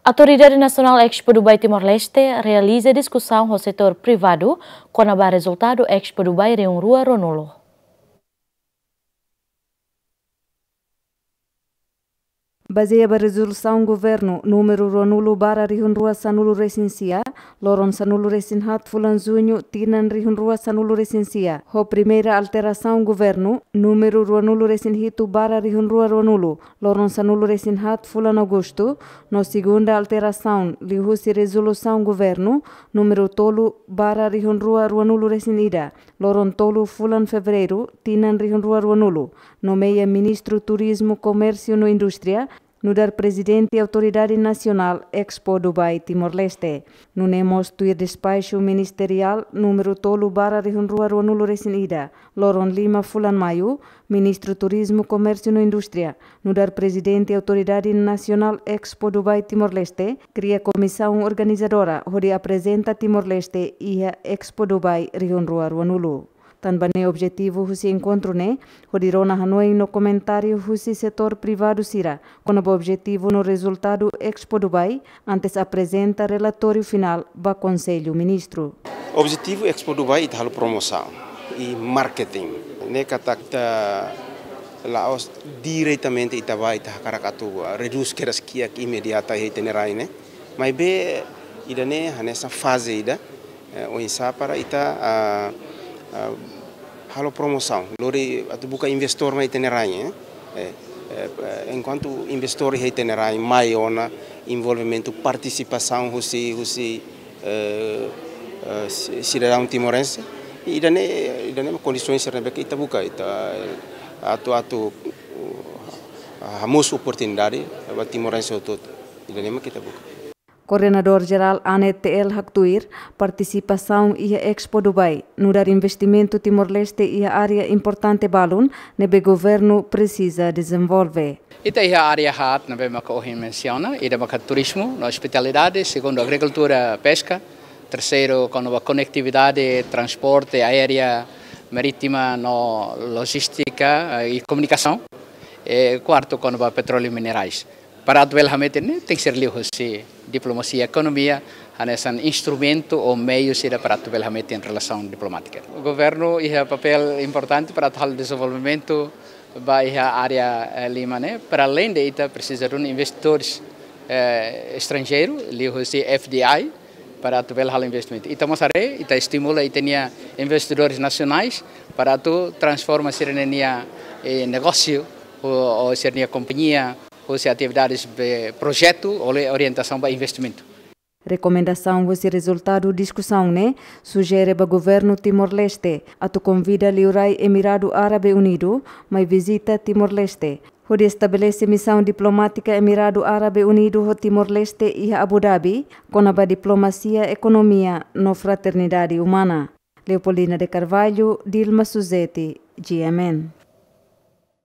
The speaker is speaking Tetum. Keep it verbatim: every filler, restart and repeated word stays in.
Autoridade Nasionál Expo Dubai Timor-Leste realiza diskusaun ho setór privadu kona-ba rezultadu Expo Dubai rihun rua ruanulu. Bazeia ba rezolusaun governu númeru ruanulu barra rihun rua sanulu resin sia, loron sanulu resin haat fulan juñu tinan rihun rua sanulu resin sia, ho primeira alterasaun governu númeru ruanulu resin hitu barra rihun rua ruanulu, loron sanulu resin haat fulan agostu, no segunda alterasaun liuhusi rezolusaun governu númeru tolu barra rihun rua ruanulu resin ida, loron tolu fulan fevereiru tinan rihun rua ruanulu, nomeia Ministru Turizmu, Komérsiu no Indústria, nu'udar Prezidente Autoridade Nasionál Expo Dubai Timor-Leste. Nune'e mós tuir despaxu ministeriál númeru tolu barra rihun rua ruanulu resin ida, loron lima fulan maiu, Ministru Turizmu, Komérsiu no Indústria, nu'udar Prezidente Autoridade Nasionál Expo Dubai Timor-Leste, kria komisaun organizadora hodi aprezenta Timor-Leste iha Expo Dubai rihun rua ruanulu. Tanba ne'e objetivu husi enkontru ne'e, hodi rona hanoin no komentáriu husi setór privadu sira kona-ba objetivu no rezultadu Expo Dubai, antes aprezenta relatóriu finál ba Konsellu Ministru. Objetivu Expo Dubai ita halo promosaun i marketing. Ne'e katak ita la'ós diretamente ita bá ita hakarak atu redús kedas kiak imediata iha ita-nia rain ne'e. Maibé ida-ne'e hanesan faze ida, eh, oinsá para ita, ah, ah, halo promosaun, lori atu buka investór mai ita-nia rain, eh. Eh, eh, enkuantu investór iha ita-nia rain mai ona, envolvimentu, partisipasaun husi, husi, eh, eh, si-, sidadaun timorense. I ida-ne'e, ida-ne'e kondisoens sira ne'ebé ke ita buka, ita, eh, atu, atu, uh, hamosu oportunidade ba timorense hotu-hotu. Ida-ne'e mak ita buka. Koordenadór Jerál ANET T L haktuir, partisipasaun iha Expo Dubai nu'udar investimentu Timor-Leste iha área importante balun ne'ebé governu presiza dezenvolve. Ita iha área haat ne'ebé maka ohin mensiona, ida maka turizmu no ospitalidade, segundu agrikultura, peska, terseiru kona-ba konektividade, transporte aérea, marítima no lojístika, eh, i komunikasaun. E kuartu kona-ba petróleu minerais. Para atu bele hametin ne'e, tenke ser liuhusi diplomasia ekonomia, hanesan instrumentu ou meius ida para atu bele hametin relasaun diplomátika. Governu iha papél importante para atu halo dezenvolvimentu ba iha área, eh, lima ne'e, para além de ita presiza duni investidores, eh, estranjeiru, liuhusi F D I, para atu bele halo investimentu. Ita mós haree, ita estimula ita-nia investidores nasionais para atu transforma sira-nia, eh, negósiu, ou, ou sira-nia kompañia, husi atividades be projetu, ou orientasaun ba investimentu. Rekomendasaun husi rezultadu diskusaun ne'e sujere ba governu Timor-Leste atu konvida liurai Emiradu Árabe Unidu mai vizita Timor-Leste, hodi estabelese misaun diplomátika Emiradu Árabe Unidu ho Timor-Leste iha Abu Dhabi, kona-ba diplomasia, ekonomia no fraternidade umana. Leopoldina de Carvalho, Dilma Suzeti, G M N.